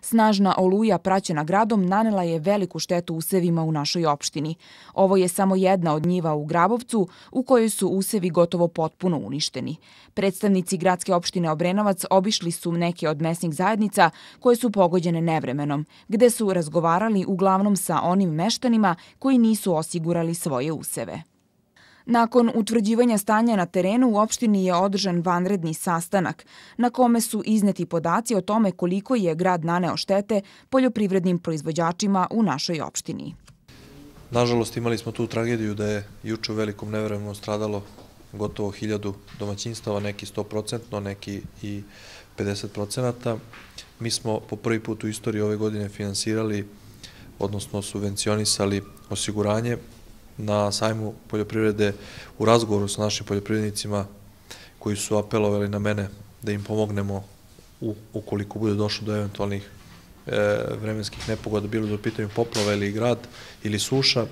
Snažna oluja praćena gradom nanela je veliku štetu usevima u našoj opštini. Ovo je samo jedna od njiva u Grabovcu u kojoj su usevi gotovo potpuno uništeni. Predstavnici gradske opštine Obrenovac obišli su neke od mesnih zajednica koje su pogođene nevremenom, gde su razgovarali uglavnom sa onim meštanima koji nisu osigurali svoje useve. Nakon utvrđivanja stanja na terenu u opštini je održan vanredni sastanak na kome su izneti podaci o tome koliko je grad naneo štete poljoprivrednim proizvođačima u našoj opštini. Nažalost, imali smo tu tragediju da je juče u velikom nevremenu stradalo gotovo 1000 domaćinstava, neki 100%, neki i 50%. Mi smo po prvi put u istoriji ove godine finansirali, odnosno subvencionisali osiguranje na sajmu poljoprivrede u razgovoru sa našim poljoprivrednicima koji su apelovali na mene da im pomognemo ukoliko bude došlo do eventualnih vremenskih nepogoda, bilo da u pitanju poplava ili grad ili suša.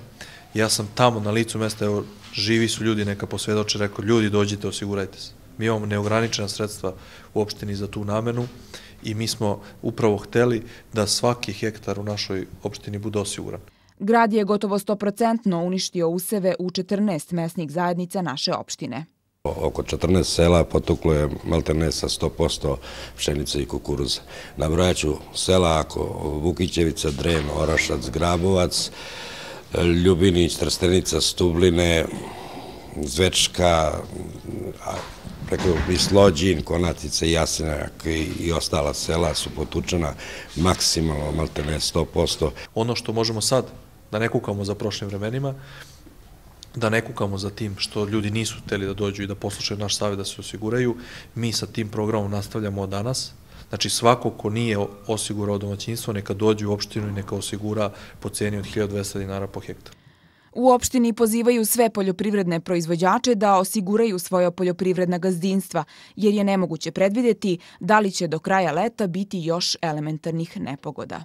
Ja sam tamo na licu mesta, evo, živi su ljudi, neka posvedoče, rekao, ljudi dođite, osigurajte se. Mi imamo neograničena sredstva u opštini za tu namenu i mi smo upravo hteli da svaki hektar u našoj opštini bude osiguran. Grad je gotovo 100% uništio useve u 14 mesnih zajednica naše opštine. Oko 14 sela potuklo je maltene sa 100% pšenice i kukuruza. Nabrojaću sela ako Vukićevica, Dren, Orašac, Grabovac, Ljubinić, Trstenica, Stubline, Zvečka, i Slođin, Konatica, Jasenak i ostala sela su potučena maksimalno, maltene 100%. Ono što možemo sad, da ne kukamo za prošlim vremenima, da ne kukamo za tim što ljudi nisu hteli da dođu i da poslušaju naš savjet da se osiguraju, mi sa tim programom nastavljamo od danas. Znači, svako ko nije osigurao domaćinstvo, neka dođe u opštinu i neka osigura po ceni od 1200 dinara po hektaru. U opštini pozivaju sve poljoprivredne proizvođače da osiguraju svoja poljoprivredna gazdinstva, jer je nemoguće predvideti da li će do kraja leta biti još elementarnih nepogoda.